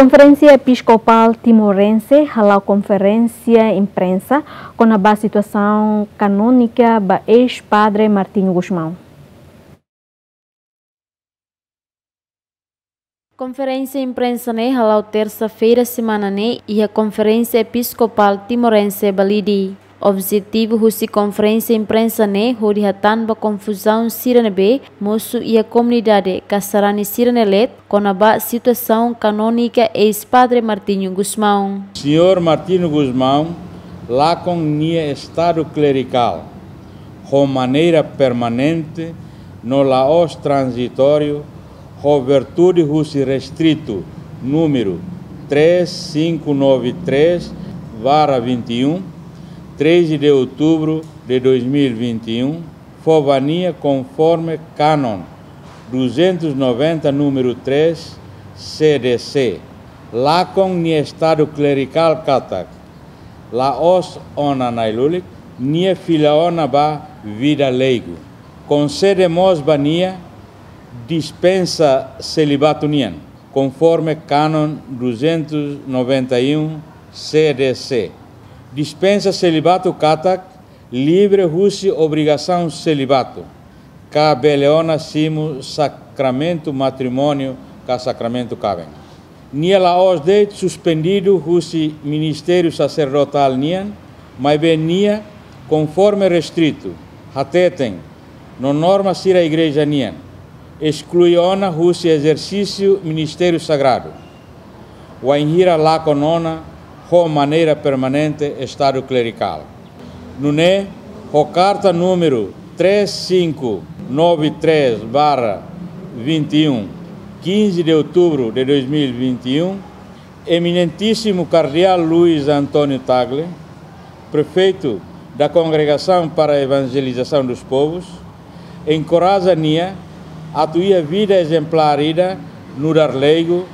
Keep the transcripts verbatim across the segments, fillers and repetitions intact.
Konferénsia Episkopál Timorense hala'o konferénsia imprensa kona-ba situasaun kanónika ba eis-padre Martinho Gusmão. Konferénsia imprensa ne'e hala'o tersa-feira semana ne'e iha Konferénsia Episkopál Timorense Balide. Objetivu husi konferénsia imprensa ne'e hodi hatán ba konfuzaun sira ne'ebé mosu iha komunidade ka sarani sira-ne'e leet kona-ba situasaun kanónika eis-padre Martinho Gusmão. Señór Martinho Gusmão lakon nia estadu klerikál ho maneira permanente no la'ós tranzitóriu, ho virtude husi restritu númeru três cinco nove três barra vinte e um, treze de outubro de dois mil e vinte e um, fó ba nia konforme kanon duzentos e noventa, númeru três, C D C. Lakon nia estadu klerikál katak la'ós ona na'i-lulik, nia fila ona ba vida leigu. Konsede mós ba nia dispensa selibatu nian, konforme kanon duzentos e noventa e um C D C. Dispensa selibatu katak livre husi obrigasaun selibatu, ka bele ona simu sakramentu matrimóniu ka sakramentu kaben. Nia la'ós de'it suspendidu husi ministériu saserdotál nian, maibé nia, konforme restritu, hateten no norma sira igreja nian, esklui ona husi ezersísiu ministériu sagradu, wainhira lakon ona ho maneira permanente estadu klerikál. Nune'e, ho karta númeru três cinco nove três barra vinte e um, quinze de outubro de dois mil e vinte e um, Eminentíssimo Cardeal Luís António Tagle, Prefeito da Congregação para a Evangelização dos Povos, enkoraja nia atu iha vida ezemplár ida nu'udar leigu,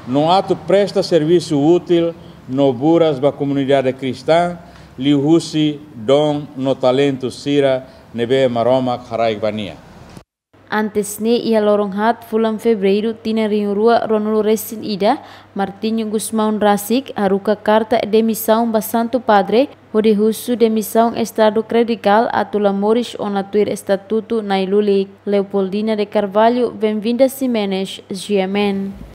no atu presta servisu útil no buras ba komunidade kristaun, liuhusi don no talentu sira ne'ebé Maromak haraik ba nia. Antes ne'e, iha loron haat fulan Fevereiru tinan rihun rua ruanulu resin ida, Martinho Gusmão rasik haruka karta demisaun ba Santu Padre, hodi husu demisaun estadu klerikál atu la moris ona tuir estatutu na'i-lulik. Leopoldina de Carvalho, Benvinda Ximenes, G M N.